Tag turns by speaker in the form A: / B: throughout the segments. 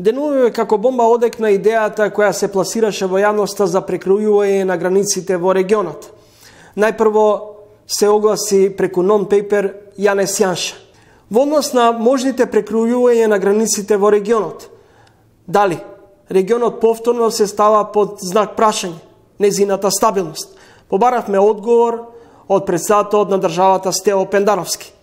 A: Денуваме како бомба одекна идејата која се пласираше во јавноста за прекројување на границите во регионот. Најпрво се огласи преку нон-пейпер Јанес Јанша. Во однос на можните прекројување на границите во регионот, дали регионот повторно се става под знак прашање, незината стабилност? Побаравме одговор од претседателот на државата Стево Пендаровски.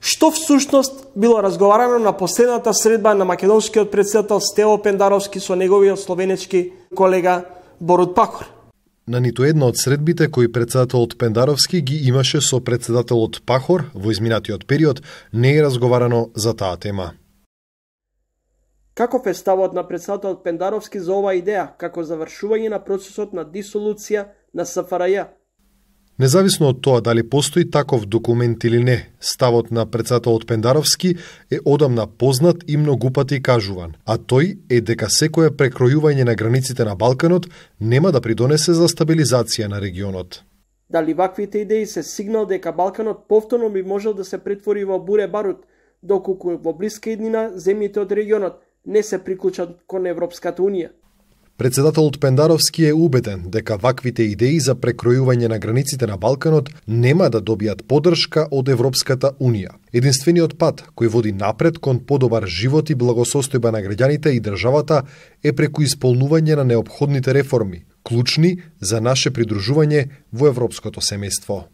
A: Што всушност било разговарано на последната средба на македонскиот претседател Стево Пендаровски со неговиот словенечки колега Борут Пахор?
B: На ниту една од средбите кои претседателот Пендаровски ги имаше со претседателот Пахор во изминатиот период не е разговарано за таа тема.
A: Каков е ставот на претседателот Пендаровски за оваа идеја како завршување на процесот на дисолуција на СФРЈ?
B: Независно од тоа дали постои таков документ или не, ставот на претседателот Пендаровски е одамна познат и многупати кажуван, а тој е дека секое прекројување на границите на Балканот нема да придонесе за стабилизација на регионот.
A: Дали ваквите идеи се сигнал дека Балканот повторно би можел да се претвори во буре барут, доколку во блиска иднина земјите од регионот не се приклучат кон Европската Унија?
B: Претседателот Пендаровски е убеден дека ваквите идеи за прекројување на границите на Балканот нема да добијат поддршка од Европската Унија. Единствениот пат кој води напред кон подобар живот и благосостојба на граѓаните и државата е преку исполнување на неопходните реформи, клучни за наше придружување во европското семејство.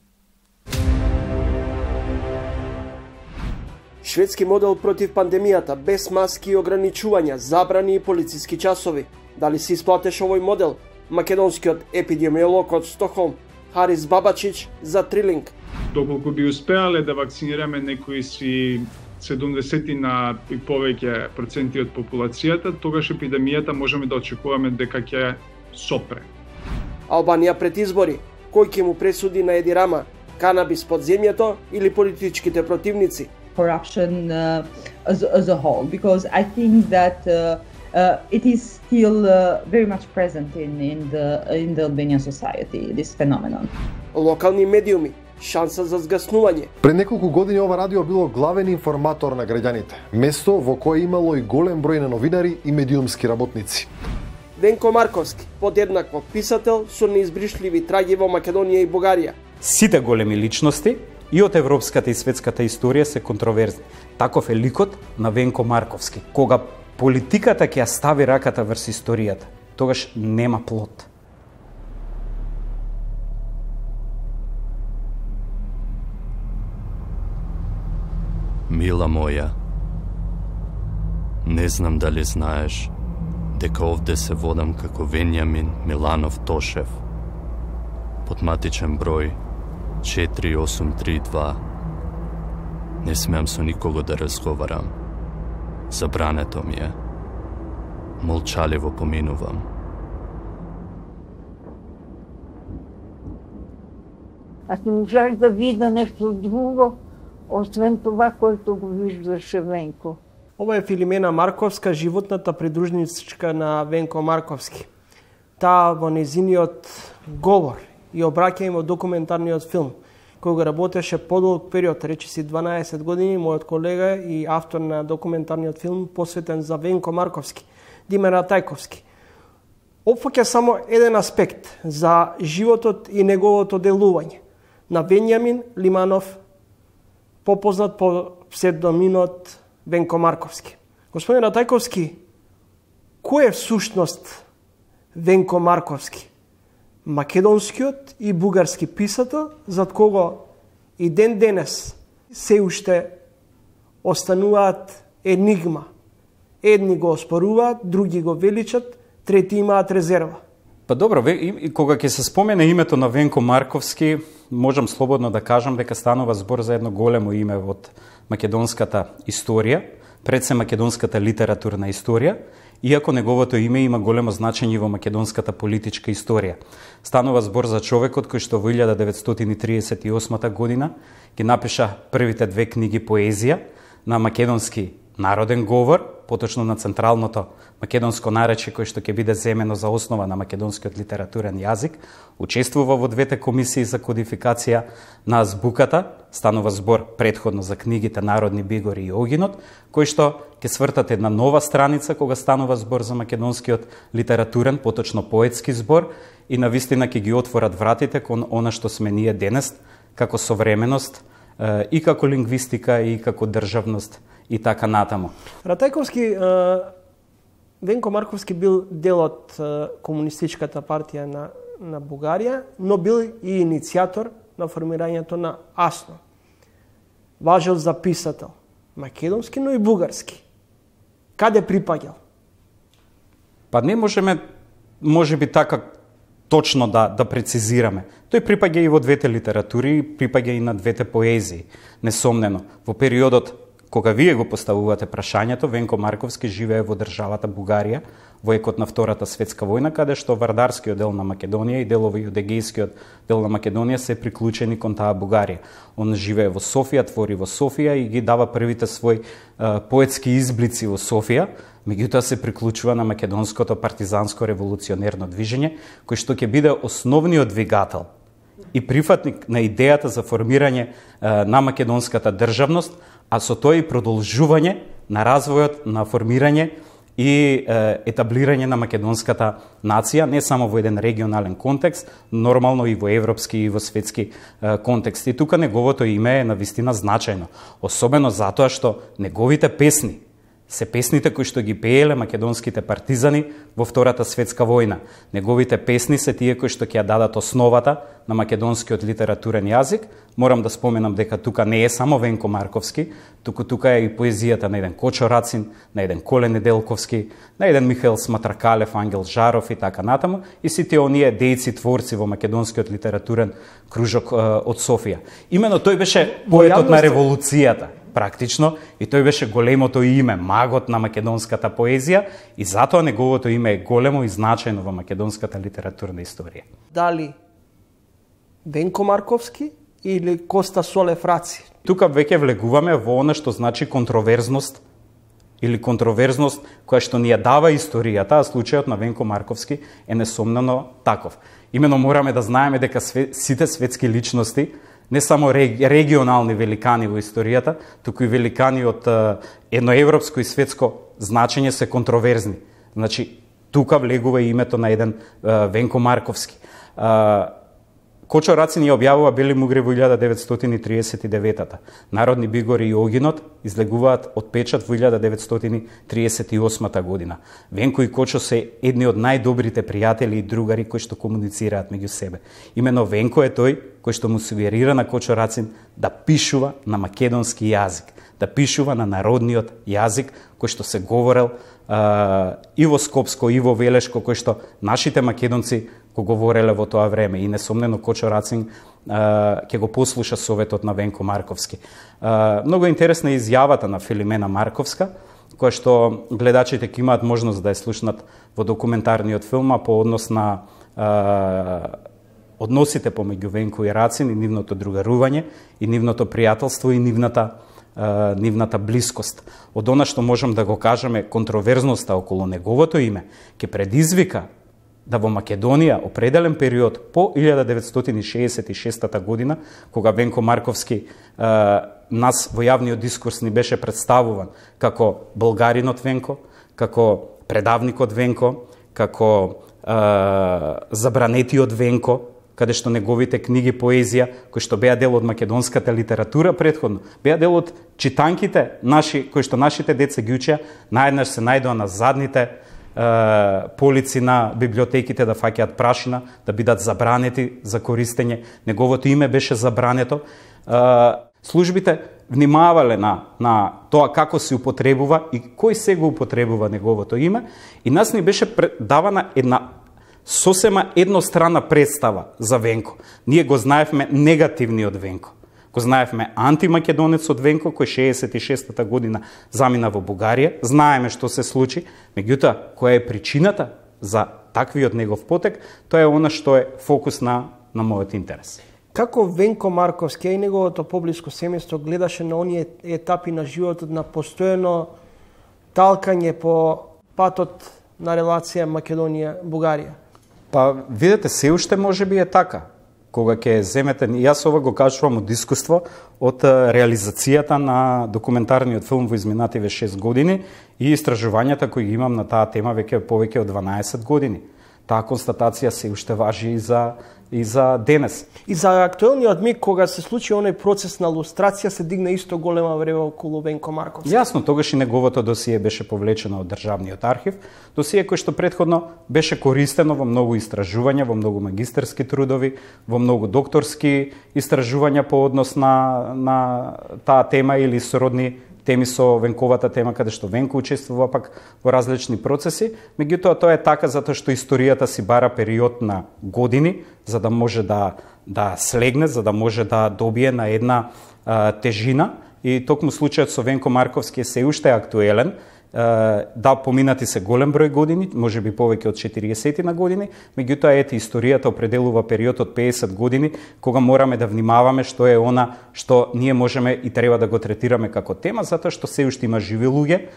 A: Шведски модел против пандемијата, без маски и ограничувања, забрани и полициски часови. Дали се исплатеше овој модел? Македонскиот епидемиолог од Стокхолм, Харис Бабачич, за Трилинг.
C: Доколку би успеале да вакцинираме некои си 70 и повеќе проценти од популацијата, тогаш епидемијата можеме да очекуваме дека ќе сопре.
A: Албанија пред избори. Кој ќе му пресуди на Еди Рама? Канабис под земјето или политичките противници?
D: Corruption as a whole, because I think that it is still very much present in the Albanian society, this phenomenon.
A: Локални медиуми, шанса за згаснување.
B: Пред неколку години ова радио било главен информатор на граѓаните, место во кое имало и голем број на новинари и медиумски работници.
A: Венко Марковски, подеднакво писател со неизбришливи траги во Македонија и Бугарија.
E: Сите големи личности и од европската и светската историја се контроверзни. Таков е ликот на Венко Марковски. Кога политиката ќе ја стави раката врз историјата, тогаш нема плод.
F: Мила моја, не знам дали знаеш дека овде се водам како Венјамин Миланов Тошев, под матичен број 4832. Не смеам со никого да разговарам. Забрането ми е. Молчаливо поминувам.
G: Аз не можах да видя нещо друго, освен това, което го виждаше Венко.
A: Ова е Филимена Марковска, животната придружничка на Венко Марковски. Таа во незиниот говор и обраќање во документарниот филм, кој го работеше подолг период, речиси 12 години, мојот колега и автор на документарниот филм посветен за Венко Марковски, Диме Ратајковски. Опфаќа само еден аспект за животот и неговото делување на Венјамин Лиманов, попознат по псевдонимот Венко Марковски. Господин Ратајковски, кој е всушност Венко Марковски? Македонскиот и бугарски писател, зад кого и ден денес се уште остануваат енигма. Едни го оспоруваат, други го величат, трети имаат резерва.
E: Па добро, кога ќе се спомене името на Венко Марковски, можам слободно да кажам дека станува збор за едно големо име од македонската историја, пред се македонската литературна историја, иако неговото име има големо значење во македонската политичка историја. Станува збор за човекот кој што во 1938 година ги напиша првите две книги поезија на македонски народен говор поточно на централното македонско наречје кој што ќе биде земено за основа на македонскиот литературен јазик, учествува во двете комисии за кодификација на азбуката, станува збор претходно за книгите Народни бигори и Огинот, кој што ќе свртат една нова страница кога станува збор за македонскиот литературен, поточно поетски збор, и навистина ќе ги отворат вратите кон она што сме ние денес, како современост, и како лингвистика, и како државност, и така натаму.
A: Ратајковски, Венко Марковски бил дел од комунистичката партија на Бугарија, но бил и иницијатор на формирањето на АСНО. Важел за писател, македонски, но и бугарски. Каде припаѓал?
E: Па не можеме, можеби така точно да прецизираме. Тој припаѓа и во двете литератури, припаѓа и на двете поезии, несомнено. Во периодот кога вие го поставувате прашањето, Венко Марковски живее во државата Бугарија во екот на Втората светска војна, каде што вардарскиот дел на Македонија и делови од егејскиот дел на Македонија се приклучени кон таа Бугарија. Он живее во Софија, твори во Софија и ги дава првите своји поетски изблици во Софија, меѓутоа се приклучува на македонското партизанско револуционерно движење, кој што ќе биде основниот двигател и прифатник на идејата за формирање на македонската државност, а со тоа и продолжување на развојот на формирање и етаблирање на македонската нација, не само во еден регионален контекст, нормално и во европски и во светски контекст. И тука неговото име е навистина значајно, особено затоа што неговите песни се песните кои што ги пееле македонските партизани во Втората светска војна. Неговите песни се тие кои што ќе ја дадат основата на македонскиот литературен јазик. Морам да споменам дека тука не е само Венко Марковски, тука е и поезијата на еден Кочо Рацин, на еден Коле Неделковски, на еден Михаил Сматракалев, Ангел Жаров и така натаму, и сите оние дејци творци во македонскиот литературен кружок од Софија. Имено тој беше поетот на револуцијата, практично, и тој беше големото име, магот на македонската поезија, и затоа неговото име е големо и значајно во македонската литературна историја.
A: Дали Венко Марковски или Коста Солев Раци?
E: Тука веќе влегуваме во она што значи контроверзност или контроверзност која што ни ја дава историјата, а случајот на Венко Марковски е несомнено таков. Имено мораме да знаеме дека сите светски личности, не само регионални великани во историјата, туку и великани од едноевропско и светско значење се контроверзни. Значи, тука влегува името на еден Венко Марковски. Кочо Рацин ја објавува Бели мугри во 1939-та. Народни бигори и Огинот излегуваат од печат во 1938 година. Венко и Кочо се едни од најдобрите пријатели и другари кои што комуницираат меѓу себе. Имено Венко е тој кој што му сугерира на Кочо Рацин да пишува на македонски јазик, да пишува на народниот јазик кој што се говорел и во Скопско и во Велешко, кој што нашите македонци го говореле во тоа време, и несомнено Кочо Рацин ќе го послуша советот на Венко Марковски. Многу интересна е изјавата на Филимена Марковска, која што гледачите ќе имаат можност да ја слушнат во документарниот филм по однос на односите помеѓу Венко и Рацин и нивното другарување, и нивното пријателство и нивната блискост. Од она што можам да го кажеме, контроверзноста околу неговото име ќе предизвика да во Македонија определен период по 1966 година, кога Венко Марковски нас во јавниот дискурс ни беше представуван како болгаринот Венко, како предавникот Венко, како забранетиот Венко, каде што неговите книги поезија, кои што беа дел од македонската литература претходно, беа дел од читанките наши, кои што нашите деца ги учеа, наеднаш се најдоа на задните полици на библиотеките да фаќаат прашина, да бидат забранети за користење. Неговото име беше забрането. Службите внимавале на тоа како се употребува и кој се го употребува неговото име, и нас ни беше давана една сосема едностранна представа за Венко. Ние го знаевме негативниот Венко. Го знаевме антимакедонецот Венко, кој 66-та година замина во Бугарија. Знаеме што се случи, меѓутоа, која е причината за таквиот негов потек, тоа е она што е фокус на мојот интерес.
A: Како Венко Марковски и неговото поблиско семејство гледаше на оние етапи на животот на постојано талкање по патот на релација Македонија-Бугарија?
E: Па, видете, се уште може би е така. Кога ќе земете, јас ова го кажувам од искуство, од реализацијата на документарниот филм во изминативе 6 години и истражувањата кои имам на таа тема веќе повеќе од 12 години. Таа констатација се уште важи и за денес.
A: И за актуелниот миг, кога се случи оној процес на лустрација, се дигна исто голема врева околу Венко Марковски.
E: Јасно, тогаш и неговото досие беше повлечено од Државниот архив, досие кој што претходно беше користено во многу истражувања, во многу магистерски трудови, во многу докторски истражувања по однос на таа тема или сородни теми со Венковата тема, каде што Венко учествува пак во различни процеси. Меѓутоа, тоа е така затоа што историјата си бара период на години, за да може да слегне, за да може да добие на една тежина. И токму случајот со Венко Марковски е се уште актуелен. Да, поминати се голем број години, може би повеќе од 40 на години, меѓутоа ете историјата определува период од 50 години кога мораме да внимаваме што е она што ние можеме и треба да го третираме како тема, затоа што се уште има живи луѓе,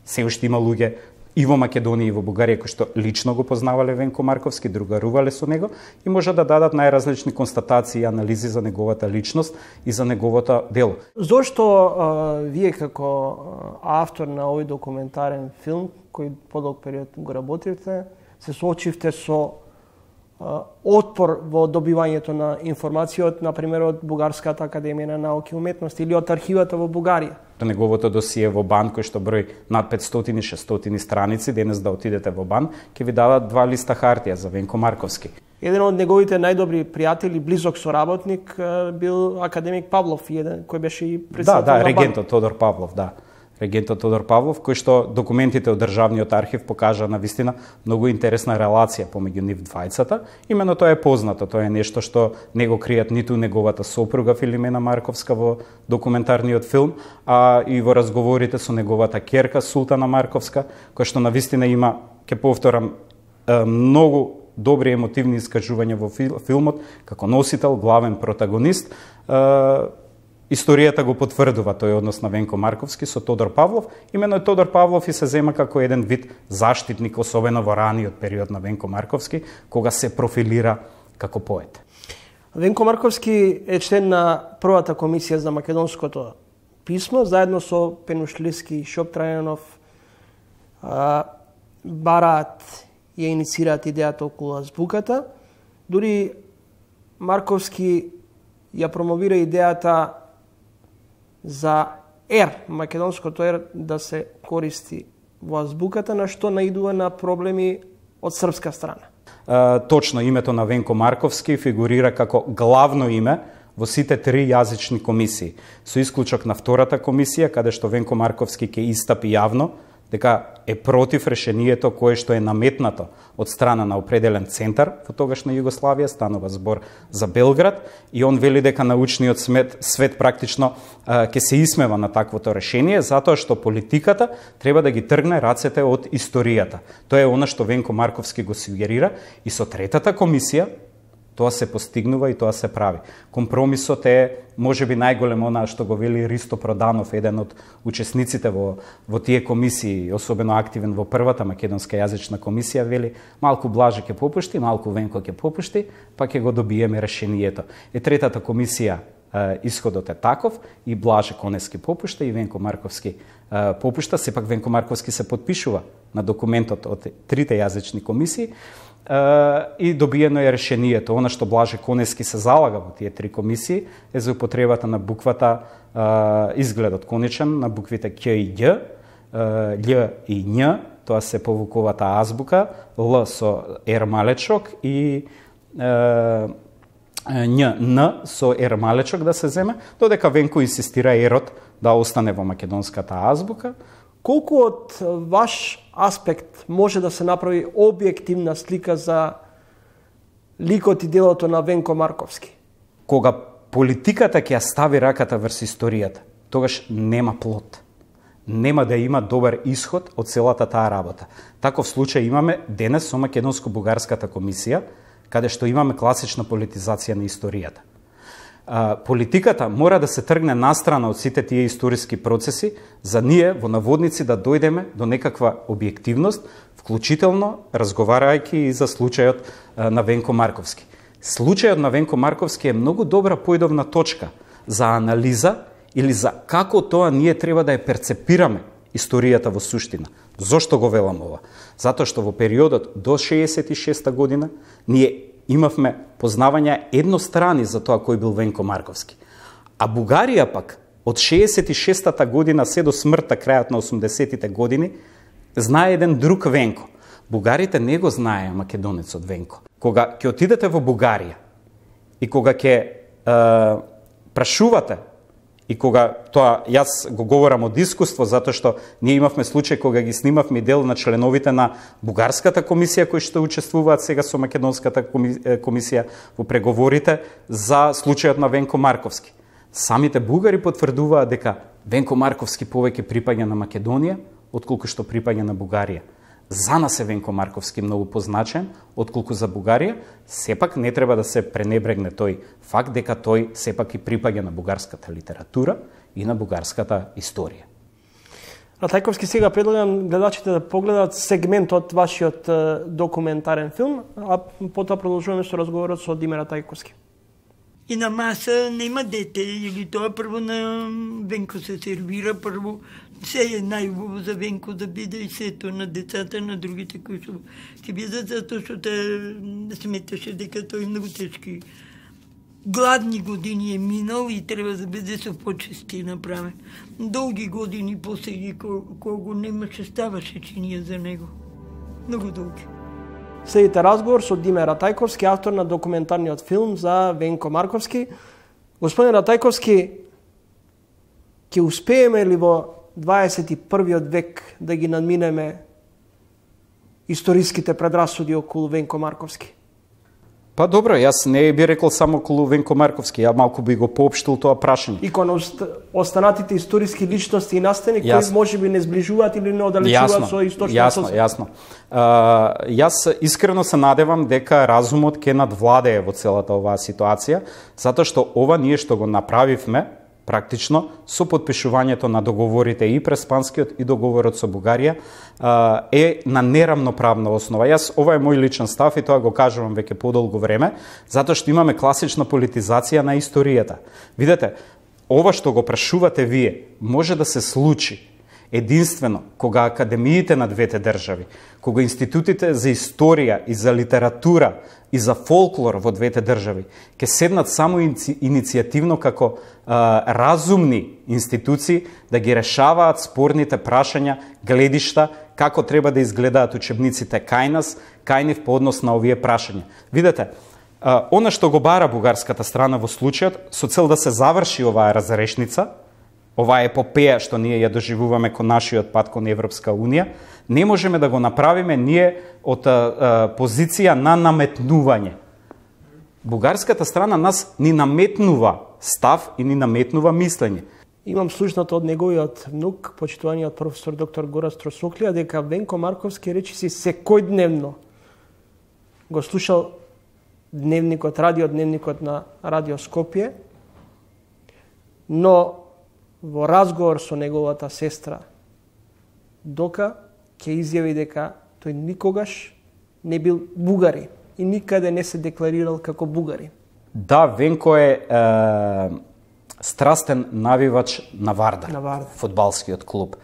E: се уште има луѓе и во Македонија и во Бугарија кои што лично го познавале Венко Марковски, другарувале со него и може да дадат најразлични констатации и анализи за неговата личност и за неговото дело.
A: Зошто вие како автор на овој документарен филм, кој подолг период го работивте, се соочивте со отпор во добивањето на информација од, например, од Бугарската академија на науки и уметности или од архивата во Бугарија?
E: Неговото досие во БАН, кој што број над 500-600 страници, денес да отидете во БАН, ќе ви дадат 2 листа хартија за Венко Марковски.
A: Еден од неговите најдобри пријатели, близок соработник, бил академик Павлов, кој беше и председател на БАН.
E: регентот Тодор Павлов, регентот Тодор Павлов, кој што документите од Државниот архив покажа на вистина многу интересна релација помеѓу нив двајцата. Имено тоа е познато, тоа е нешто што не го кријат ниту неговата сопруга Филимена Марковска во документарниот филм, а и во разговорите со неговата ќерка Султана Марковска, која што на вистина има, ќе повторам, многу добри емотивни искажувања во филмот, како носител, главен протагонист. Историјата го потврдува тој однос на Венко Марковски со Тодор Павлов. Имено Тодор Павлов и се зема како еден вид заштитник, особено во раниот период на Венко Марковски, кога се профилира како поет.
A: Венко Марковски е член на првата комисија за македонското писмо, заедно со Пенушлиски и Шоптрајанов бараат и иницираат идејата околу азбуката. Дури Марковски ја промовира идејата за ер, македонското ер, да се користи во азбуката, на што наидува на проблеми од српска страна.
E: Точно, името на Венко Марковски фигурира како главно име во сите 3 јазични комисии, со исклучок на втората комисија, каде што Венко Марковски ќе истапи јавно дека е против решението кое што е наметнато од страна на определен центар во тогашна Југославија, станува збор за Белград, и он вели дека научниот свет практично ќе се исмева на таквото решение, затоа што политиката треба да ги тргне рацете од историјата. Тоа е она што Венко Марковски го сугерира, и со третата комисија тоа се постигнува и тоа се прави. Компромисот е можеби најголем, она што го вели Ристо Проданов, еден од учесниците во тие комисии, особено активен во првата македонска јазична комисија, вели малку Блаже ќе попушти, малку Венко ќе попушти, па ќе го добиеме решението. И третата комисија исходот е таков, и Блаже Конески попушта и Венко Марковски попушта. Сепак Венко Марковски се подпишува на документот од 3 јазични комисии, и добиено е решението. Она што Блаже Конески се залага во тие 3 комисии е за употребата на буквата, изгледот конечен на буквите Қ и Ѓ, Л и Њ, тоа се повуковата азбука, Л со ер малечок и Њ, Н со ер малечок да се земе, додека Венко инсистира ерот да остане во македонската азбука.
A: Колку од ваш аспект може да се направи објективна слика за ликот и делото на Венко Марковски?
E: Кога политиката ќе ја стави раката врз историјата, тогаш нема плод. Нема да има добар исход од целата таа работа. Таков случај имаме денес со Македонско-бугарската комисија, каде што имаме класична политизација на историјата. Политиката мора да се тргне настрана од сите тие историски процеси, за ние во наводници да дојдеме до некаква објективност, вклучително разговарајќи и за случајот на Венко Марковски. Случајот на Венко Марковски е многу добра поидовна точка за анализа или за како тоа ние треба да ја перцепираме историјата во суштина. Зошто го велам ова? Затоа што во периодот до 66 година ние имавме познавања еднострани за тоа кој бил Венко Марковски. А Бугарија пак од 66-та година се до смртта крајот на 80-тите години знае еден друг Венко. Бугарите не го знае македонецот Венко. Кога ќе отидете во Бугарија и кога ќе прашувате, и кога тоа јас го говорам од искуство, затоа што ние имавме случај кога ги снимавме дел на членовите на бугарската комисија кои што учествуваат сега со македонската комисија во преговорите за случајот на Венко Марковски. Самите бугари потврдуваат дека Венко Марковски повеќе припаѓа на Македонија отколку што припаѓа на Бугарија. За нас е Венко Марковски многу позначен, отколку за Бугарија, сепак не треба да се пренебрегне тој факт дека тој сепак и припаѓа на бугарската литература и на бугарската историја.
A: Ратајковски, сега предлагам гледачите да погледат сегмент од вашиот документарен филм, а потоа продолжуваме со разговорот со Диме Ратајковски.
H: И на маса нема дете, или тоа прво на Венко се сервира, прво се е најубаво за Венко да биде и сето на децата, на другите кои ќе бидат, затоа што те сметаше дека тој многу тешки гладни години е минал и треба да биде со почести направен. Долги години после ги кога го немаше, ставаше чинија за него. Многу долги.
A: Следите разговор со Диме Ратајковски, автор на документарниот филм за Венко Марковски. Господин Ратајковски, ќе успееме ли во 21. век да ги надминеме историските предрасуди околу Венко Марковски?
E: Па добро, јас не би рекол само околу Венко Марковски, ја малку би го поопштил тоа прашање.
A: И кон останатите историски личности и настани кои можеби не сближуваат или не оддалечуваат со источниот сосед.
E: Јасно. Јас искрено се надевам дека разумот ќе надвладее во целата оваа ситуација, затоа што ова ние што го направивме практично со подпишувањето на договорите и Преспанскиот и договорот со Бугарија е на нерамноправна основа. Јас ова е мој личен став и тоа го кажувам веќе подолго време, затоа што имаме класична политизација на историјата. Видете, ова што го прашувате вие може да се случи единствено кога академиите на двете држави, кога институтите за историја и за литература и за фолклор во двете држави ќе седнат само иницијативно како разумни институции да ги решаваат спорните прашања, гледишта, како треба да изгледаат учебниците кај нас, кај нив по однос на овие прашања. Видете, она што го бара бугарската страна во случајот, со цел да се заврши оваа разрешница, оваа епопеја што ние ја доживуваме кон нашиот пат кон Европска Унија, не можеме да го направиме ние од позиција на наметнување. Бугарската страна нас ни наметнува став и ни наметнува мислење.
A: Имам слушнато од неговиот внук, почитуваниот професор доктор Гора Стросоклија, дека Венко Марковски речиси секојдневно го слушал дневникот, радиодневникот на Радио Скопје, но во разговор со неговата сестра Дока ќе изјави дека тој никогаш не бил бугарин и никаде не се декларирал како бугарин.
E: Да, Венко е страстен навивач на Вардар, фудбалскиот клуб.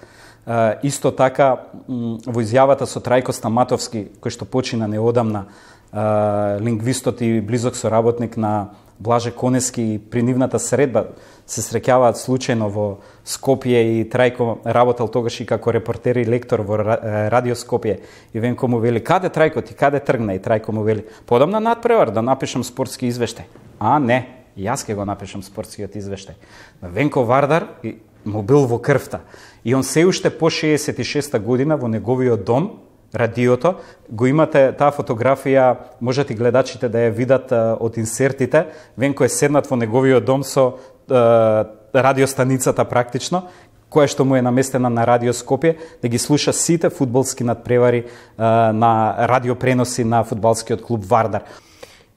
E: Исто така, во изјавата со Трајко Стаматовски, кој што почина неодамна, лингвистот и близок соработник на Блаже Конески, при нивната средба се среќаваат случајно во Скопје и Трајко работел тогаш и како репортер и лектор во Радио Скопје. И Венко му вели: "Каде Трајко ти, каде тргна?" И Трајко му вели: "Подам на надпревар да напишам спортски извештај." "А, не, јас ќе го напишам спортскиот извештај." Венко Вардар му бил во крвта. И он се уште по 66 година во неговиот дом, радиото, го имате таа фотографија, можете гледачите да ја видат од инсертите. Венко е седнат во неговиот дом со радиостаницата практично, која што му е наместена на Радио Скопје, да ги слуша сите фудбалски надпревари на радиопреноси на фудбалскиот клуб Вардар.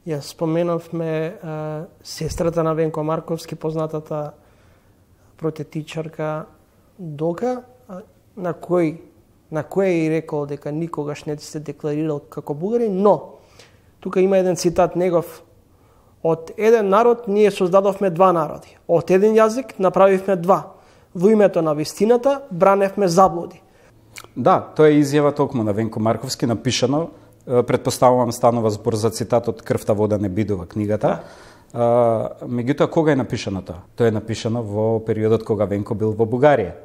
A: Ја споменавме сестрата на Венко Марковски, познатата протетичарка Дока, на кој и рекол дека никогаш не се декларирал како бугарин, но тука има еден цитат негов: од еден народ ние создадовме два народи, од еден јазик направивме два, во името на вистината браневме заблуди.
E: Да, тоа е изјава токму на Венко Марковски, напишано, предпоставувам станува збор за цитат од Крвта вода не бидува книгата. Меѓутоа, кога е напишано тоа? Тоа е напишано во периодот кога Венко бил во Бугарија.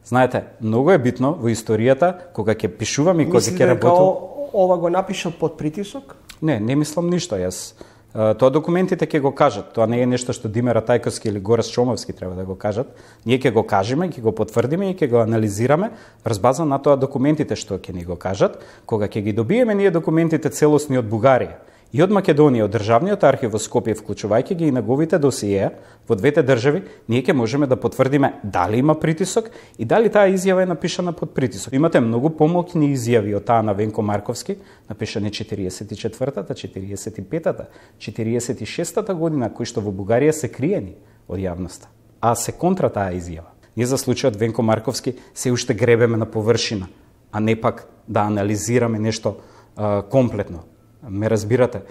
E: Знаете, многу е битно во историјата, кога ќе пишувам и кога ќе работам.
A: Мислите ова го напишал под притисок?
E: Не мислам ништо. Јас тоа документите ќе го кажат. Тоа не е нешто што Димер Атајковски или Горас Чомовски треба да го кажат. Ние ќе го кажеме, ќе го потврдиме и ќе го анализираме врз база на тоа документите што ќе ни го кажат. Кога ќе ги добиеме ние документите целосни од Бугарија и од Македонија, од Државниот архив во Скопје, вклучувајќи ги и неговите досиеа во двете држави, ние ќе можеме да потврдиме дали има притисок и дали таа изјава е напишана под притисок. Имате многу помоќни изјави од таа на Венко Марковски, напишани 44-та, 45-та, 46-та година, кои што во Бугарија се криени од јавноста, а се контра таа изјава. Ние за случајот Венко Марковски се уште гребеме на површина, а не пак да анализираме нешто комплетно. Ме разбирате,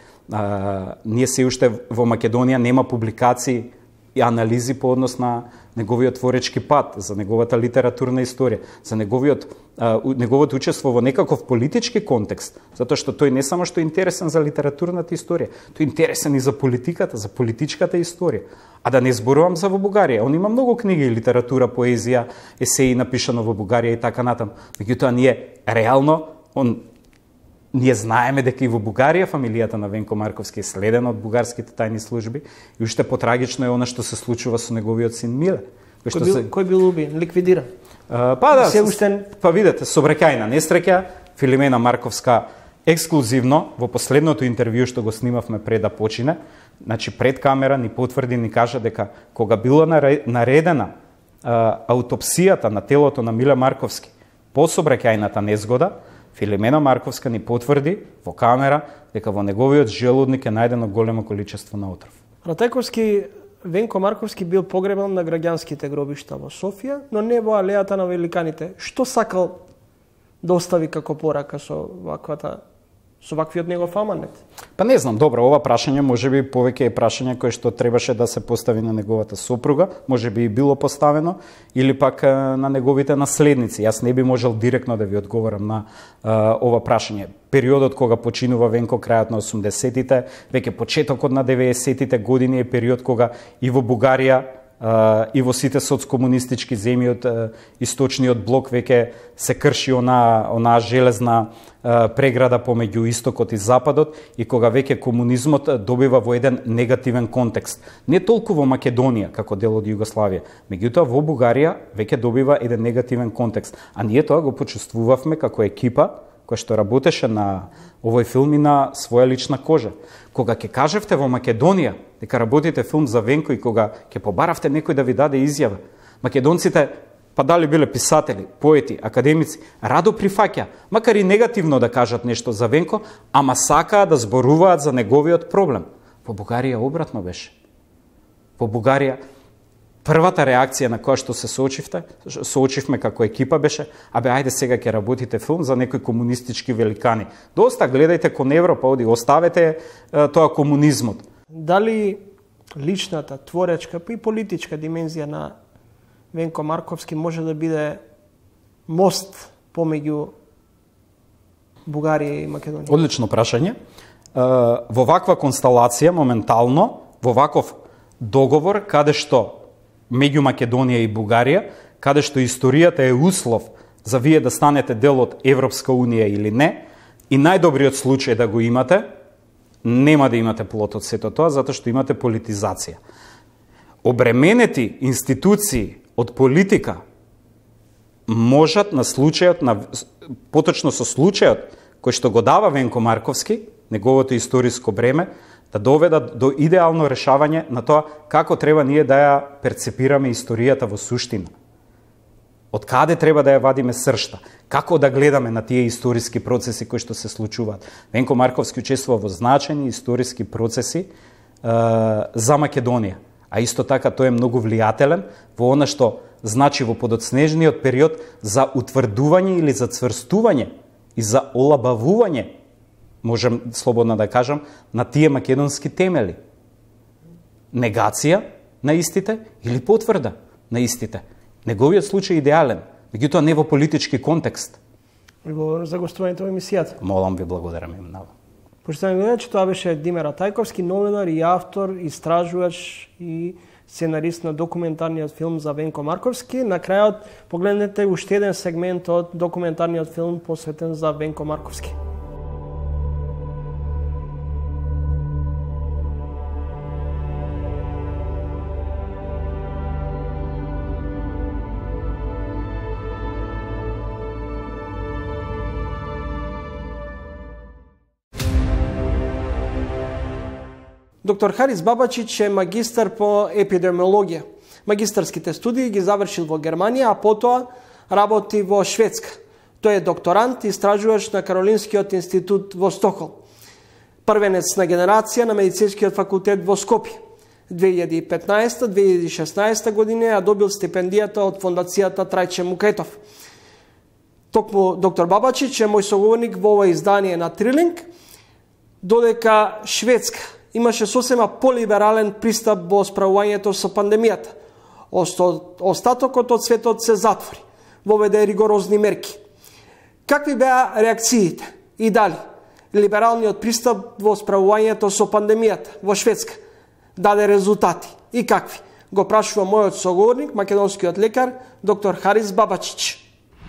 E: ние се уште во Македонија нема публикации и анализи по однос на неговиот творечки пат, за неговата литературна историја, за неговото учество во некаков политички контекст, затоа што тој не само што е интересен за литературната историја, тој е интересен и за политиката, за политичката историја. А да не зборувам за во Бугарија, он има многу книги, литература, поезија, есеи напишано во Бугарија и така натаму. Меѓутоа ние реално ние знаеме дека и во Бугарија фамилијата на Венко Марковски е следена од бугарските тајни служби и уште потрагично е она што се случува со неговиот син Миле.
A: Кој бил убиен, ликвидиран?
E: Па видете, собраќајна несреќа, Филимена Марковска ексклузивно во последното интервју што го снимавме пред да почине, значи пред камера ни потврди, ни кажа дека кога било наредена аутопсијата на телото на Миле Марковски по собраќајната незгода, Филимена Марковска ни потврди во камера дека во неговиот желудник е најдено големо количество на отров.
A: Ратајковски, Венко Марковски бил погребан на граѓанските гробишта во Софија, но не во алејата на великаните. Што сакал да остави како порака со ваквиот негов аманет?
E: Па не знам, добро, ова прашање можеби повеќе е прашање кое што требаше да се постави на неговата сопруга, можеби и било поставено, или пак на неговите наследници. Јас не би можел директно да ви одговорам на ова прашање. Периодот кога починува Венко, крајот на 80-тите, веќе почетокот на 90-тите години е период кога и во Бугарија и во сите соцкомунистички земји од источниот блок веќе се крши онаа железна преграда помеѓу истокот и западот и кога веќе комунизмот добива во еден негативен контекст. Не толку во Македонија како дел од Југославија, меѓутоа во Бугарија веќе добива еден негативен контекст. А ние тоа го почувствувавме како екипа која што работеше на овој филм и на своја лична кожа. Кога ќе кажевте во Македонија дека работите филм за Венко и кога ќе побаравте некој да ви даде изјава, македонците, па дали биле писатели, поети, академици, радо прифаќа, макар и негативно да кажат нешто за Венко, ама сакаа да зборуваат за неговиот проблем. Во Бугарија обратно беше. Во Бугарија првата реакција на која што се соочивме како екипа беше: абе, ајде сега ќе работите филм за некои комунистички великани. Доста, гледајте кон Европа, оди, оставете тоа комунизмот.
A: Дали личната, творечка и политичка димензија на Венко Марковски може да биде мост помеѓу Бугарија и Македонија?
E: Одлично прашање. Во ваква констелација, моментално, во ваков договор, каде што меѓу Македонија и Бугарија, каде што историјата е услов за вие да станете дел од Европска унија или не, и најдобриот случај да го имате, нема да имате плод од сето тоа, затоа што имате политизација. Обременети институции од политика можат на случајот, поточно со случајот кој што го дава Венко Марковски, неговото историско бреме, да доведат до идеално решавање на тоа како треба ние да ја перцепираме историјата во суштина. Од каде треба да ја вадиме сршта? Како да гледаме на тие историски процеси кои што се случуваат? Венко Марковски учествува во значајни историски процеси за Македонија. А исто така тој е многу влијателен во она што значи во подоцнежниот период за утврдување или за цврстување и за олабавување, можем слободно да кажам, на тие македонски темели. Негација на истите или потврда на истите. Неговиот случај е идеален, меѓутоа не во политички контекст.
A: Ви благодарам за гостувањето во емисијата.
E: Молам ви, благодарам им много.
A: Почитувани гледачи, тоа беше Димер Атајковски, новинар и автор, истражувач и сценарист на документарниот филм за Венко Марковски. На крајот погледнете уште еден сегмент од документарниот филм посветен за Венко Марковски. Доктор Харис Бабачич е магистар по епидемиологија. Магистарските студии ги завршил во Германија, а потоа работи во Шведска. Тој е докторант и истражувач на Каролинскиот институт во Стокхолм. Првенец на генерација на медицинскиот факултет во Скопје. 2015-2016 година ја добил стипендијата од фондацијата Трајче Мукетов. Токму доктор Бабачич е мој соговорник во ова издание на Трилинг, додека Шведска имаше сосема полиберален пристап во справувањето со пандемијата. Остатокот од светот се затвори, воведе ригорозни мерки. Какви беа реакциите и дали либералниот пристап во справувањето со пандемијата во Шведска даде резултати и какви? Го прашува мојот соговорник, македонскиот лекар, доктор Харис Бабачич.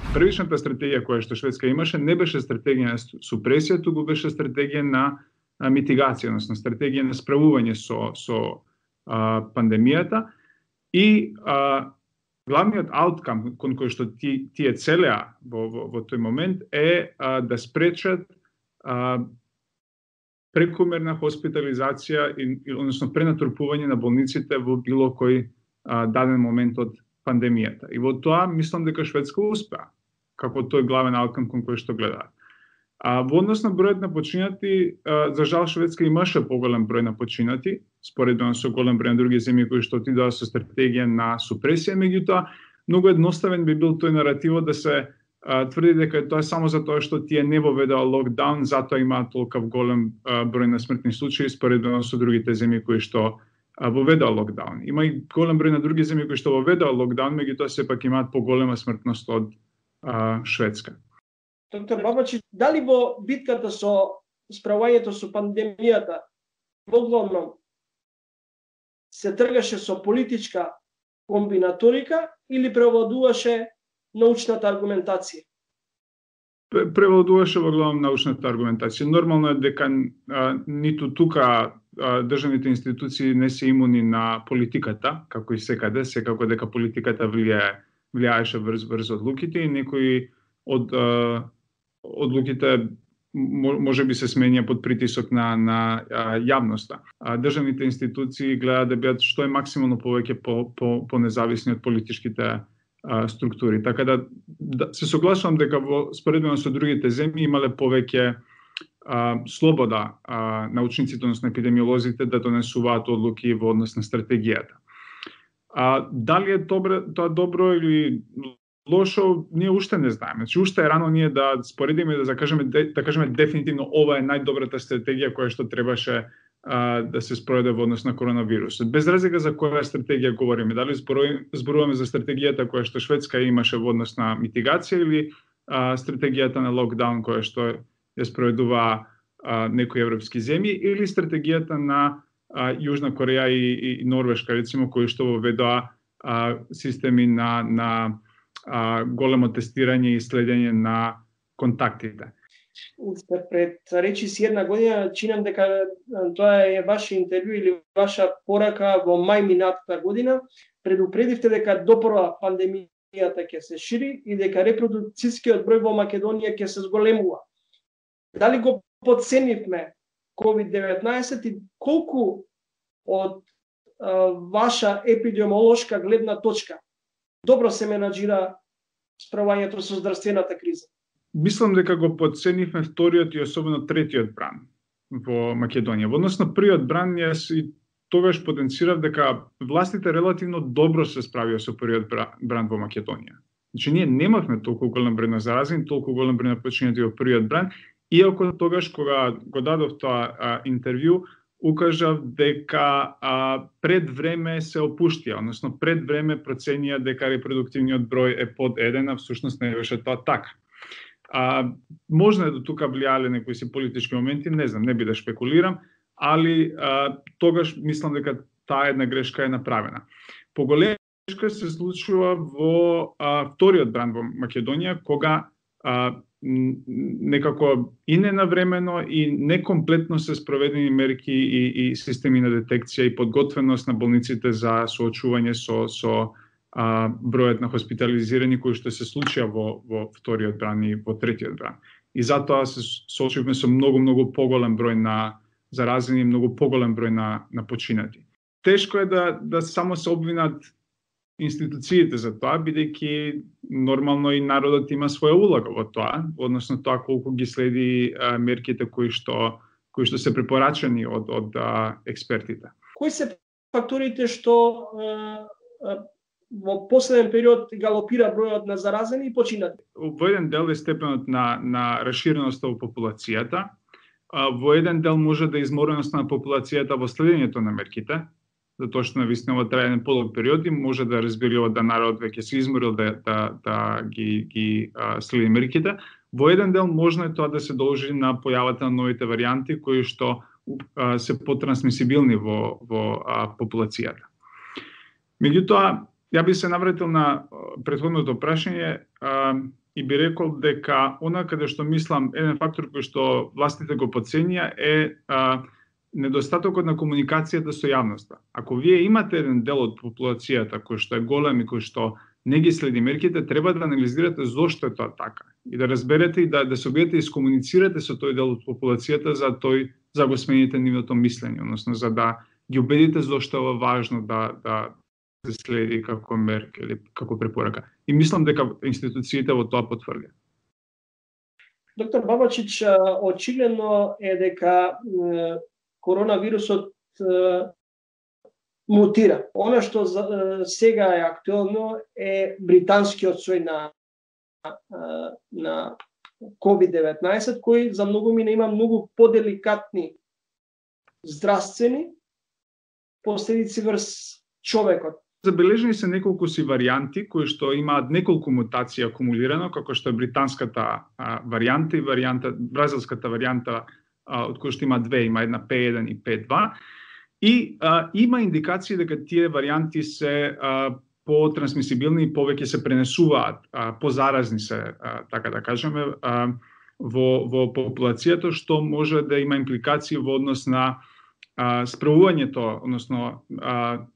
C: Првичната стратегија која што Шведска имаше не беше стратегија на супресија, туку беше стратегија на митигација, односно стратегија на справување со пандемијата и главниот ауткам кон кој што тие целеа во тој момент е да спречат прекомерна хоспитализација односно пренатрупување на болниците во било кој даден момент од пандемијата. И во тоа мислам дека Шведска успеа како тој главен ауткам кон кој што гледаат. Во однос на бројот на починати, за жал Шведска имаше поголем број на починати, споредно со голем број на други земји кои што отидоа со стратегија на супресија, меѓутоа многу едноставен би бил тој наративот да се тврди дека тоа е само затоа што тие не воведоа локдаун, затоа имаат толков голем број на смртни случаи споредно со другите земји кои што воведоа локдаун. Има и голем број на други земји кои што воведоа локдаун, меѓутоа сепак имаат поголема смртност од Шведска.
A: Доктор Бабачич, дали во битката со справувањето со пандемијата воглавном се тргаше со политичка комбинаторика или превладуваше научната аргументација?
C: Превладуваше воглавном научната аргументација. Нормално е дека ниту тука државните институции не се имуни на политиката, како и секаде, секако дека политиката влијаеше врз одлуките и некои од одлуките може би се сменја под притисок на јавноста. Државните институции гледаат да бидат што е максимално повеќе по независни од политичките структури. Така да се согласувам дека споредно со другите земји имале повеќе слобода научниците, односно епидемиолозите да донесуваат одлуки во однос на стратегијата. Дали е тоа добро или лошо, ние уште не знаеме. Значи, уште е рано ние да споредиме и да кажеме дефинитивно ова е најдобрата стратегија која што требаше да се спроведе во однос на коронавирусот. Без разлика за која стратегија говориме, дали зборуваме за стратегијата која што Шведска имаше во однос на митигација или стратегијата на локдаун која што ја спроведува некои европски земји или стратегијата на Јужна Кореја и Норвешка, рецимо, кои што воведоа системи на големо тестирање и следење на контактите.
A: Уште пред речиси една година, чинам дека тоа е ваше интервју или ваша порака во мај минатата година, предупредивте дека допрва пандемијата ќе се шири и дека репродукцијскиот број во Македонија ќе се зголемува. Дали го потценивме COVID-19 и колку од ваша епидемиолошка гледна точка добро се менаџира справањето со здравствената криза?
C: Мислам дека го подценивме вториот и особено третиот бран во Македонија. Во однос на првиот бран, јас и тогаш потенцирав дека властите релативно добро се справија со првиот бран во Македонија. Значи, ние немавме толку голем број на заразени, толку голем број на починати во првиот бран, иако тогаш кога го дадов тоа интервју, укажав дека пред време се опуштија, односно пред време проценија дека репродуктивниот број е под 1, а всушност не беше тоа така. Можна до тука влијале некои си политички моменти, не знам, не би да шпекулирам, али тогаш мислам дека таа една грешка е направена. Поголема грешка се случува во вториот бран во Македонија, кога некако и ненавремено и некомплетно се спроведени мерки и системи на детекција и подготвеност на болниците за соочување со бројот на хоспитализирани кои што се случија во вториот бран и во третиот бран. И затоа се соочивме со многу поголем број на заразени и многу поголем број на починати. Тешко е да само се обвинат институциите за тоа, бидејќи нормално и народот има своја улога во тоа, односно тоа колку ги следи мерките кои што се препорачани од експертите.
A: Кои се факторите што во последен период галопира бројот на заразени и починати?
C: Во еден дел е степенот на расширеноста во популацијата, во еден дел може да е измореноста на популацијата во следењето на мерките, затоа што навистина во трајен подолг период и може да разбери да народот веќе се изморил да ги следи мерките. Во еден дел можно е тоа да се должи на појавата на новите варијанти кои што се потрансмисибилни во популацијата. Меѓутоа, ја би се навратил на претходното прашање и би рекол дека она каде што мислам еден фактор кој што властите го подценија е недостатокот на комуникацијата со јавноста. Ако вие имате еден дел од популацијата кој што е голем и кој што не ги следи мерките, треба да анализирате зошто е тоа така и да разберете и да се обидете и искомуницирате со тој дел од популацијата за го смените нивното мислење, односно за да ги убедите зошто е важно да се следи како мерка или како препорака. И мислам дека институциите во тоа потврдија.
A: Доктор Бабачич, очигледно е дека коронавирусот мутира. Она што сега е актуелно е британскиот сој на COVID-19, кој за многу мина има многу поделикатни здравствени последици врз човекот.
C: Забележени се неколку си варијанти кои што имаат неколку мутации акумулирано, како што е британската варијанта и бразилската варијанта, од кои што има две, има една P1 и P2. И има индикации дека тие варијанти се потрансмисибилни и повеќе се пренесуваат, позаразни се, така да кажеме, во популацијата, што може да има импликации во однос на справувањето, односно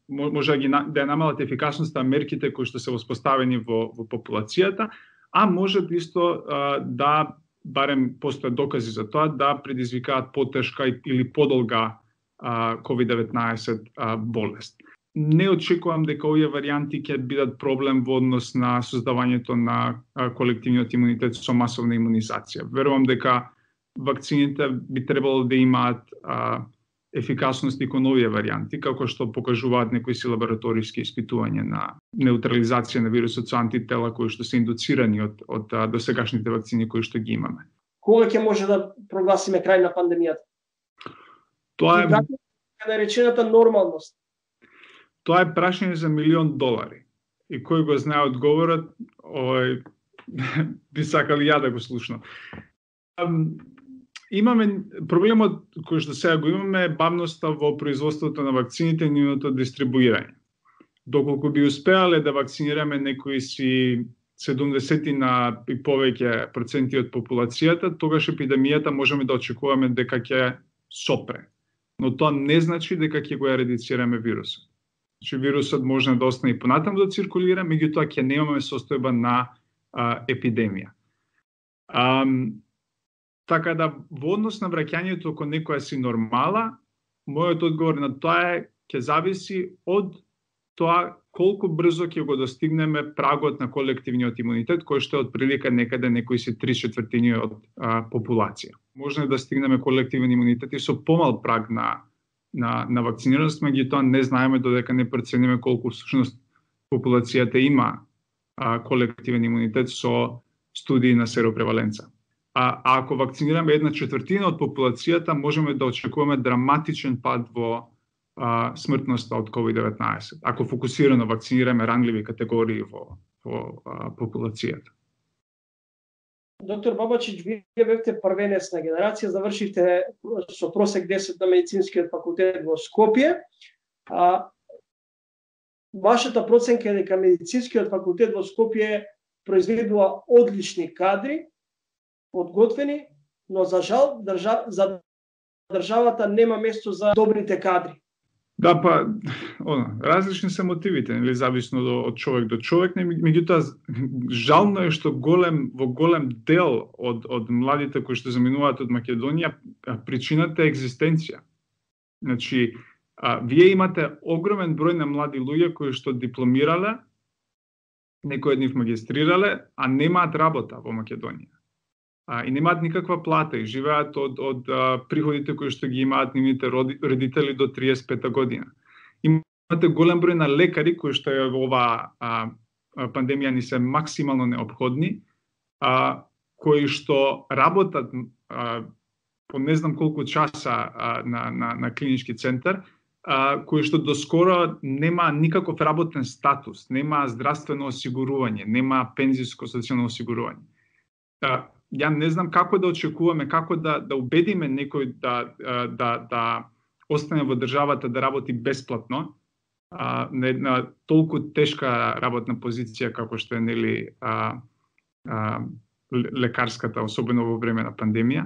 C: може да ја намалат ефикасноста мерките кои што се воспоставени во популацијата, а може исто да, барем постојат докази за тоа, да предизвикаат потешка или подолга COVID-19 болест. Не очекувам дека овие варијанти ќе бидат проблем во однос на создавањето на колективниот имунитет со масовна имунизација. Верувам дека вакцините би требало да имаат ефикасност и кон овие варијанти, како што покажуваат некои си лабораториски испитувања на неутрализација на вирусот со антитела кои што се индуцирани од досегашните вакцини кои што ги имаме.
A: Кога ќе може да прогласиме крај на пандемијата?
C: Тоа е
A: наречената нормалност.
C: Тоа е прашање за $1.000.000. И кој го знае одговорот, би сакал ја да го слушнам. Имаме проблемот кој што сега го имаме е бавноста во производството на вакцините и нивното дистрибуирање. Доколку би успеале да вакцинираме некои си 70 на и повеќе проценти од популацијата, тогаш епидемијата можеме да очекуваме дека ќе сопре. Но тоа не значи дека ќе го ерадицираме вирусот. Значи вирусот може да остане и понатаму да циркулира, меѓутоа ќе немаме состојба на епидемија. Така да, во однос на враќањето кон некоја си нормала, мојот одговор на тоа е ќе зависи од тоа колку брзо ќе го достигнеме прагот на колективниот имунитет, кој што е отприлика некаде некои си 3/4 од популација. Може да стигнеме колективен имунитет и со помал праг на вакцинираност, меѓутоа не знаеме додека не процениме колку всушност популацијата има колективен имунитет со студии на серопреваленца. А ако вакцинираме 1/4 од популацијата, можеме да очекуваме драматичен пад во смртноста од COVID-19, ако фокусирано вакцинираме ранливи категории во популацијата.
A: Доктор Бабачич, вие бевте првенецна генерација, завршивте со просек 10 на медицинскиот факултет во Скопје. Вашата проценка е дека медицинскиот факултет во Скопје произведува одлични кадри, подготвени, но за жал за државата нема место за добрите кадри.
C: Да, па, различни се мотивите, нели, зависно од човек до човек, меѓутоа жално е што во голем дел од младите кои што заминуваат од Македонија, причината е екзистенција. Значи, вие имате огромен број на млади луѓе кои што дипломирале, некои од нив магистрирале, а немаат работа во Македонија. И немаат никаква плата и живеат од приходите кои што ги имаат нивните родители до 35 година. Имате голем број на лекари кои што е во оваа пандемија ни се максимално неопходни, кои што работат по не знам колку часа на клинички центар, кои што доскоро нема никаков работен статус, нема здравствено осигурување, нема пензиско социјално осигурување. Ја не знам како да очекуваме, како да убедиме некој да остане во државата да работи бесплатно на една толку тешка работна позиција како што е, нели, лекарската, особено во време на пандемија,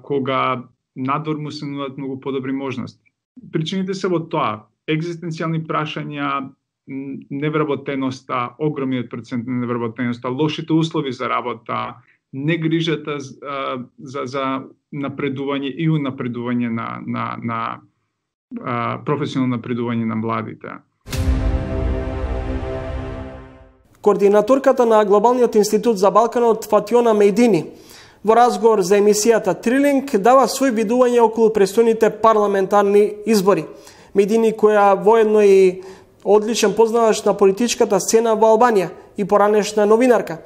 C: кога надвор му се нудат многу подобри можности. Причините се во тоа: екзистенцијални прашања, невработеноста, огромниот процент на невработеноста, лошите услови за работа, негрижата за напредување и унапредување на професионално напредување на младите.
A: Координаторката на Глобалниот институт за Балканот Фатјона Мејдини во разговор за емисијата Трилинг дава свој видување околу престојните парламентарни избори. Мејдини, која воедно и одличен познавач на политичката сцена во Албанија и поранешна новинарка,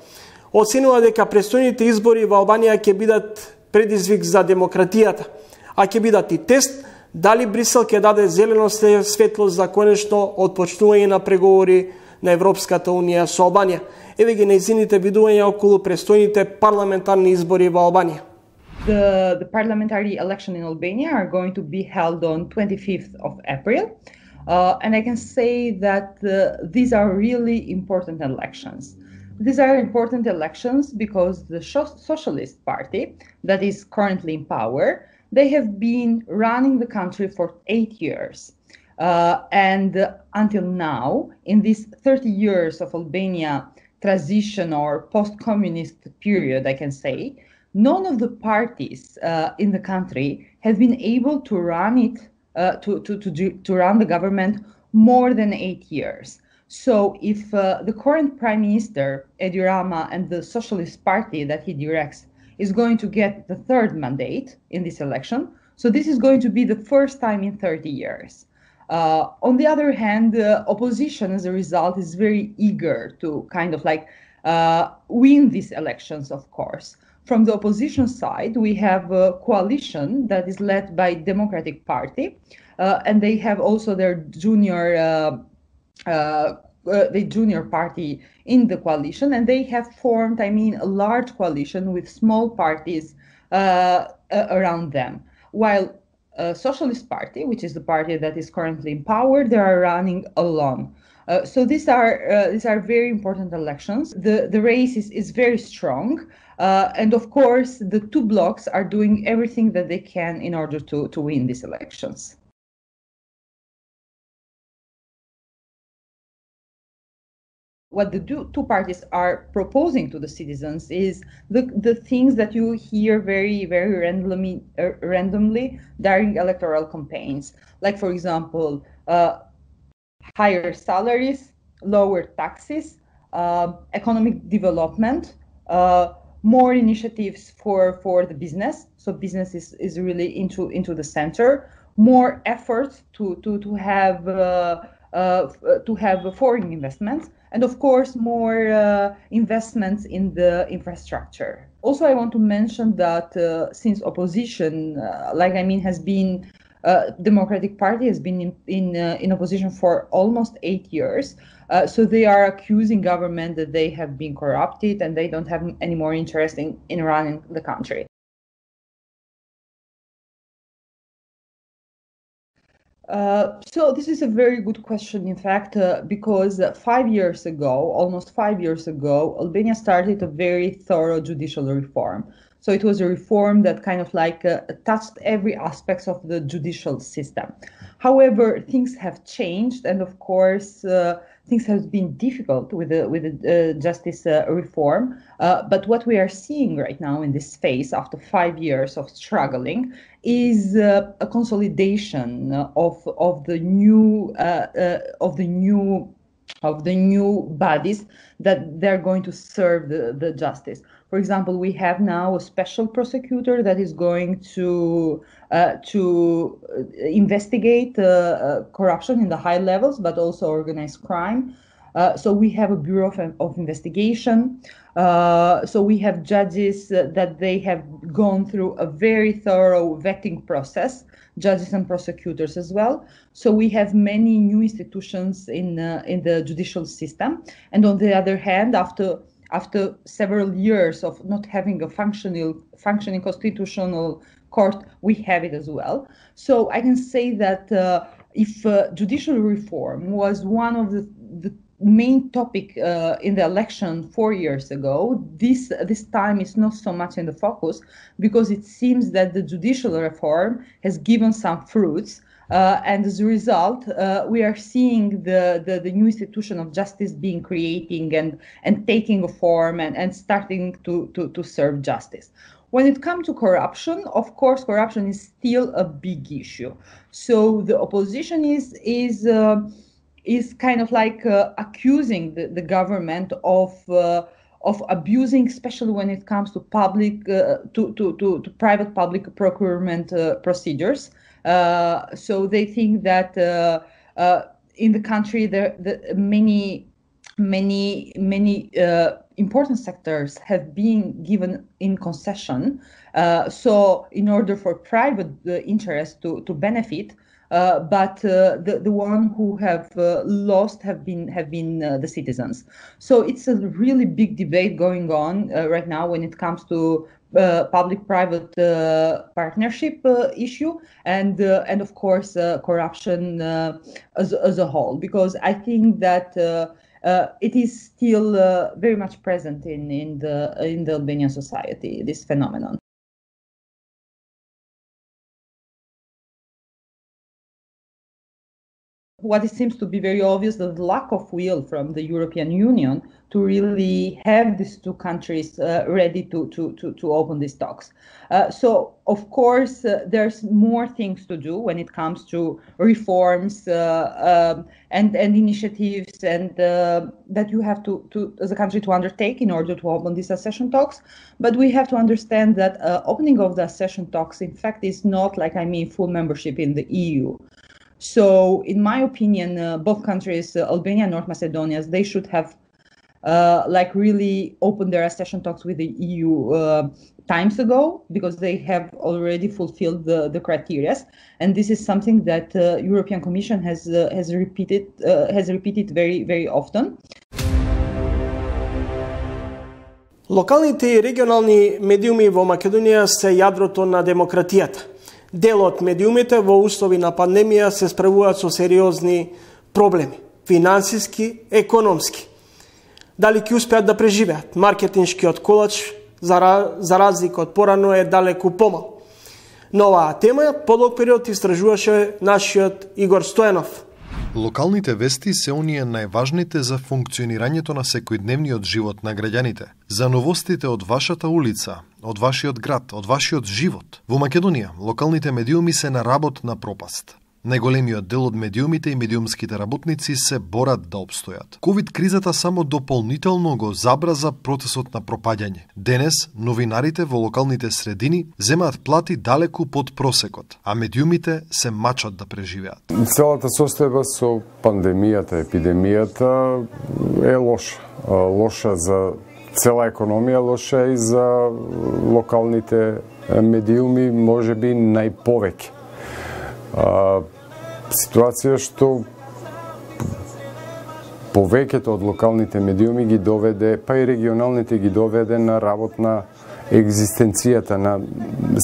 A: оценува дека престојните избори во Албанија ќе бидат предизвик за демократијата, а ќе бидат и тест дали Брисел ќе даде зелено светло за конечно отпочнување на преговори на Европската унија со Албанија. Еве ги нејзините видувања околу престојните парламентарни избори во Албанија.
D: The parliamentary election in Albania are going to be held on 25th of April. And I can say that these are really important elections. These are important elections because the Socialist Party that is currently in power, they have been running the country for 8 years. And until now, in these 30 years of Albania transition or post-communist period, I can say, none of the parties in the country have been able to run it, to run the government more than 8 years. So if the current Prime Minister, Edi Rama, and the Socialist Party that he directs is going to get the third mandate in this election, so this is going to be the first time in 30 years. On the other hand, the opposition, as a result, is very eager to kind of like win these elections, of course. From the opposition side, we have a coalition that is led by Democratic Party, and they have also their junior party in the coalition, and they have formed, a large coalition with small parties around them. While Socialist Party, which is the party that is currently in power, they are running alone. So these are very important elections. The race is very strong, and of course the two blocs are doing everything that they can in order to win these elections. What the two parties are proposing to the citizens is the things that you hear very, very randomly during electoral campaigns. Like, for example, higher salaries, lower taxes, economic development, more initiatives for the business. So business is really into the center. More efforts to have foreign investments, and of course more investments in the infrastructure. Also, I want to mention that since opposition, has been Democratic Party has been in opposition for almost 8 years. So they are accusing government that they have been corrupted and they don't have any more interest in running the country. So this is a very good question, in fact, because 5 years ago, almost 5 years ago, Albania started a very thorough judicial reform. So it was a reform that kind of touched every aspect of the judicial system. However, things have changed, and of course, things have been difficult with the justice reform. But what we are seeing right now in this phase, after 5 years of struggling, is a consolidation of the new bodies that they're going to serve the justice. For example, we have now a special prosecutor that is going to investigate corruption in the high levels, but also organized crime. So we have a bureau of investigation. So we have judges that they have gone through a very thorough vetting process, judges and prosecutors as well. So we have many new institutions in the judicial system. And on the other hand, after several years of not having a functioning constitutional court, we have it as well. So I can say that if judicial reform was one of the main topic in the election 4 years ago, this time is not so much in the focus, because it seems that the judicial reform has given some fruits. And as a result, we are seeing the new institution of justice being creating and taking a form and starting to serve justice. When it comes to corruption, of course, corruption is still a big issue. So the opposition is kind of accusing the government of abusing, especially when it comes to public to private-public procurement procedures. So they think that in the country there many important sectors have been given in concession. So in order for private interests to benefit, but the one who have lost have been the citizens. So it's a really big debate going on right now when it comes to public-private partnership issue and of course corruption as a whole, because I think that it is still very much present in the Albanian society, this phenomenon. What it seems to be very obvious, the lack of will from the European Union to really have these two countries ready to open these talks. So, of course, there's more things to do when it comes to reforms and initiatives and that you have to as a country to undertake in order to open these accession talks. But we have to understand that opening of the accession talks, in fact, is not full membership in the EU. So, in my opinion, both countries, Albania and North Macedonia, they should have really opened their accession talks with the EU times ago, because they have already fulfilled the criteria. And this is something that European Commission has repeated very, very often.
A: Локалните и регионални медиуми во Македонија се јадрото на демократијата. Дел од медиумите во услови на пандемија се справуваат со сериозни проблеми, финансиски, економски. Дали ќе успеат да преживеат? Маркетиншкиот колач, за разлика од порано, е далеку помал. На оваа тема подолг период истражуваше нашиот Игор Стојанов.
B: Локалните вести се оние најважните за функционирањето на секојдневниот живот на граѓаните, за новостите од вашата улица, од вашиот град, од вашиот живот. Во Македонија, локалните медиуми се на работ на пропаст. Најголемиот дел од медиумите и медиумските работници се борат да обстојат. Ковид кризата само дополнително го забраза процесот на пропаѓање. Денес новинарите во локалните средини земаат плати далеку под просекот, а медиумите се мачат да преживеат.
I: Целата состојба со пандемијата, епидемијата е лоша. Лоша за цела економија, лоша и за локалните медиуми, можеби најповеќе. Ситуација што повеќето од локалните медиуми ги доведе, па и регионалните ги доведе на работна екзистенцијата,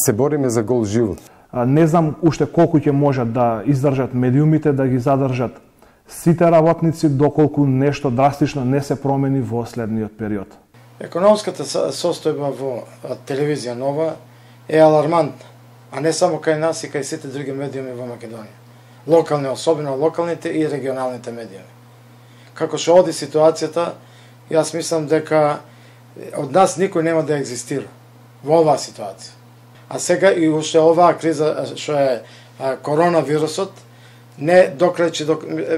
I: се бориме за гол живот.
J: Не знам уште колку ќе можат да издржат медиумите, да ги задржат сите работници, доколку нешто драстично не се промени во следниот период.
K: Економската состојба во телевизија нова е алармантна, а не само кај нас и кај сите други медиуми во Македонија. Локални, особено локалните и регионалните медиуми. Како што оди ситуацијата, јас мислам дека од нас никој нема да екзистира во оваа ситуација. А сега и уште оваа криза што е коронавирусот, не доклечи,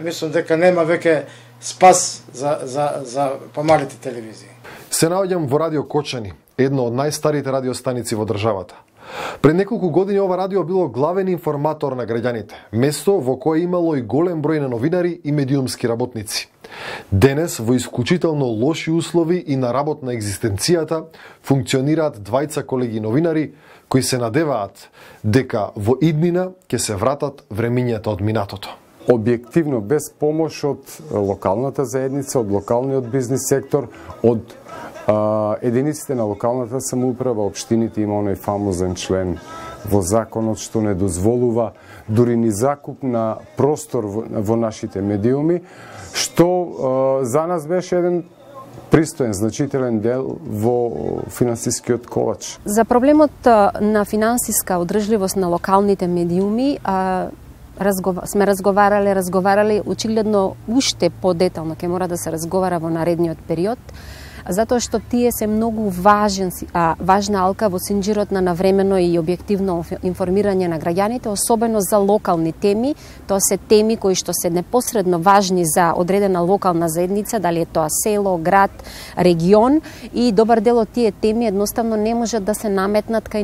K: мислам дека нема веќе спас за помалите телевизии.
B: Се наоѓам во Радио Кочани, едно од најстарите радиостаници во државата. Пред неколку години ова радио било главен информатор на граѓаните, место во кое имало и голем број на новинари и медиумски работници. Денес, во исклучително лоши услови и на работна екзистенцијата, функционираат двајца колеги новинари кои се надеваат дека во иднина ќе се вратат времињата од минатото.
I: Објективно, без помош од локалната заедница, од локалниот бизнис сектор, од единиците на локалната самоуправа, општините има оној фамозен член во законот што не дозволува дури ни закуп на простор во нашите медиуми, што за нас беше еден пристоен, значителен дел во финансискиот колач.
L: За проблемот на финансиска одржливост на локалните медиуми сме разговарали, очигледно уште подетално ќе мора да се разговара во наредниот период, затоа што тие се многу важна алка во синџирот на навремено и објективно информирање на граѓаните, особено за локални теми. Тоа се теми кои што се непосредно важни за одредена локална заедница, дали е тоа село, град, регион, и добар дел од тие теми едноставно не можат да се наметнат кај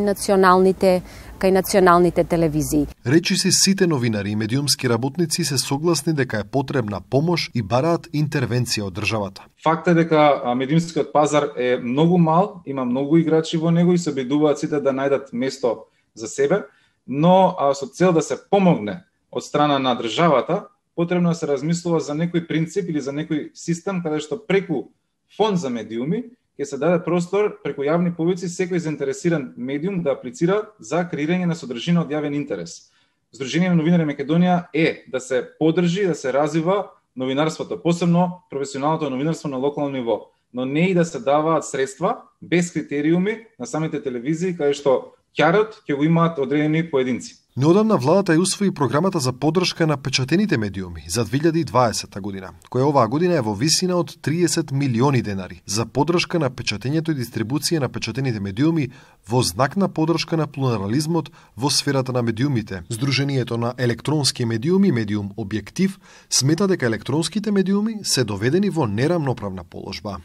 L: националните телевизии.
B: Речиси сите новинари и медиумски работници се согласни дека е потребна помош и бараат интервенција од државата.
M: Факт е дека медиумскиот пазар е многу мал, има многу играчи во него и се обидуваат сите да најдат место за себе, но со цел да се помогне од страна на државата, потребно да се размислува за некој принцип или за некој систем каде што преку фонд за медиуми ќе се даде простор преку јавни повици секој заинтересиран медиум да аплицира за креирање на содржина од јавен интерес. Сдружение на новинари Македонија е да се поддржи, да се развива новинарството, посебно професионалното новинарство на локално ниво, но не и да се даваат средства без критериуми на самите телевизии каде што ќарот ќе го имаат одредени поединци.
B: Неодамна владата ја усвои програмата за поддршка на печатените медиуми за 2020 година, која оваа година е во висина од 30 милиони денари за поддршка на печатењето и дистрибуција на печатените медиуми во знак на поддршка на плурализмот во сферата на медиумите. Сдруженијето на електронски медиуми, Медиум Објектив, смета дека електронските медиуми се доведени во нерамноправна положба.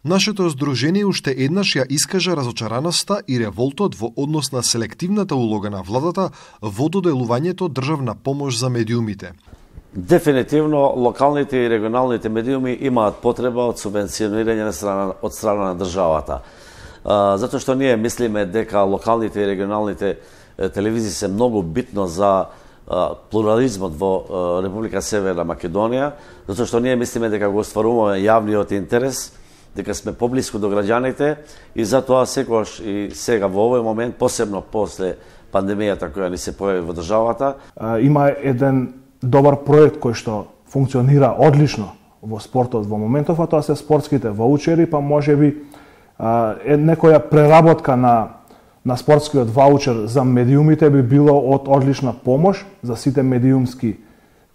B: Нашето здружение уште еднаш ја искажа разочараноста и револтот во однос на селективната улога на владата во доделувањето државна помош за медиумите.
N: Дефинитивно, локалните и регионалните медиуми имаат потреба од субвенционирање од страна на државата. Затоа што ние мислиме дека локалните и регионалните телевизии се многу битно за плурализмот во Република Северна Македонија, затоа што ние мислиме дека го остваруваме јавниот интерес, дека сме поблиску до граѓаните и затоа секогаш и сега во овој момент, посебно после пандемијата која ни се појави во државата.
J: Има еден добар проект кој што функционира одлично во спортот во моментов, а тоа се спортските ваучери, па можеби некоја преработка на спортскиот ваучер за медиумите би било од одлична помош за сите медиумски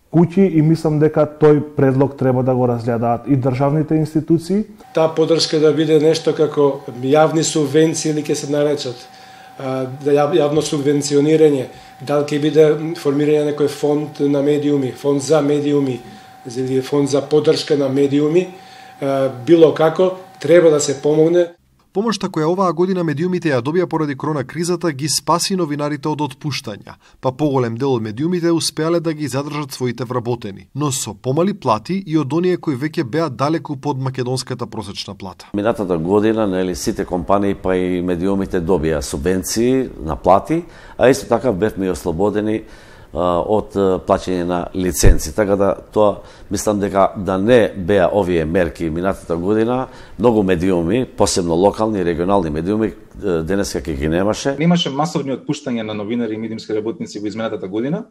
J: куќи и мислам дека тој предлог треба да го разгледаат и државните институции.
O: Таа поддршка да биде нешто како јавни субвенции или ќе се наречат, јавно субвенционирање Дали ќе биде формирање некој фонд на медиуми, фонд за медиуми, или фонд за поддршка на медиуми, било како, треба да се помогне.
B: Помошта која оваа година медиумите ја добија поради корона кризата ги спаси новинарите од отпуштања, па поголем дел од медиумите успеале да ги задржат своите вработени, но со помали плати и од оние кои веќе беа далеку под македонската просечна плата.
N: Минатата година, нели, сите компании па и медиумите добија субвенции на плати, а исто така бевме и ослободени од плаќање на лиценци. Така да тоа мислам дека да не беа овие мерки минатата година, многу медиуми, посебно локални и регионални медиуми, денеска ќе ги немаше.
M: Немаше масовни отпуштања на новинари и медиумски работници во изминатата година.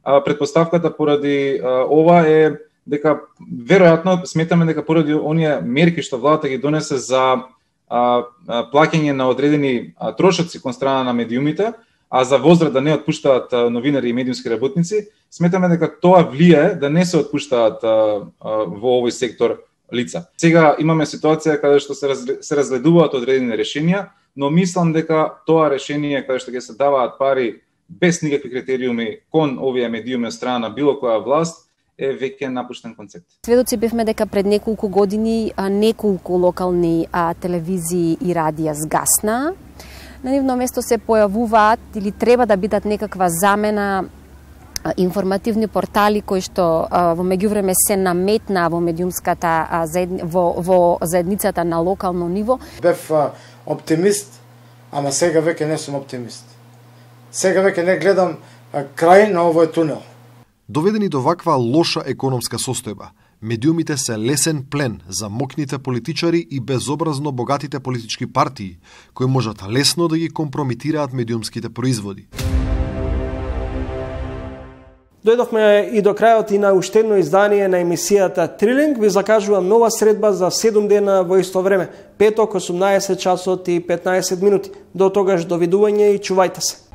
M: Предпоставката поради ова е дека веројатно сметаме дека поради оние мерки што владата ги донесе за плаќање на одредени трошоци кон страна на медиумите, а за возраст да не отпуштаат новинари и медиумски работници, сметаме дека тоа влијае да не се отпуштаат во овој сектор лица. Сега имаме ситуација каде што се разгледуваат одредени решенија, но мислам дека тоа решение каде што ќе се даваат пари без никакви критериуми кон овие медиуми од страна на било која власт е веќе напуштен концепт.
L: Сведоци бевме дека пред неколку години неколку локални телевизии и радија згасна. На нивно место се појавуваат или треба да бидат некаква замена информативни портали кои што во меѓувреме се наметна во медиумската во заедницата на локално ниво.
K: Бев оптимист, ама сега веќе не сум оптимист. Сега веќе не гледам крај на овој тунел.
B: Доведени до ваква лоша економска состојба, медиумите се лесен плен за мокните политичари и безобразно богатите политички партии, кои можат лесно да ги компромитираат медиумските производи.
A: Дојдовме и до крајот и на уште едно издание на емисијата Трилинг. Ви закажувам нова средба за 7 дена во исто време. Петок, 18 часот и 15 минути. До тогаш довидување и чувајте се.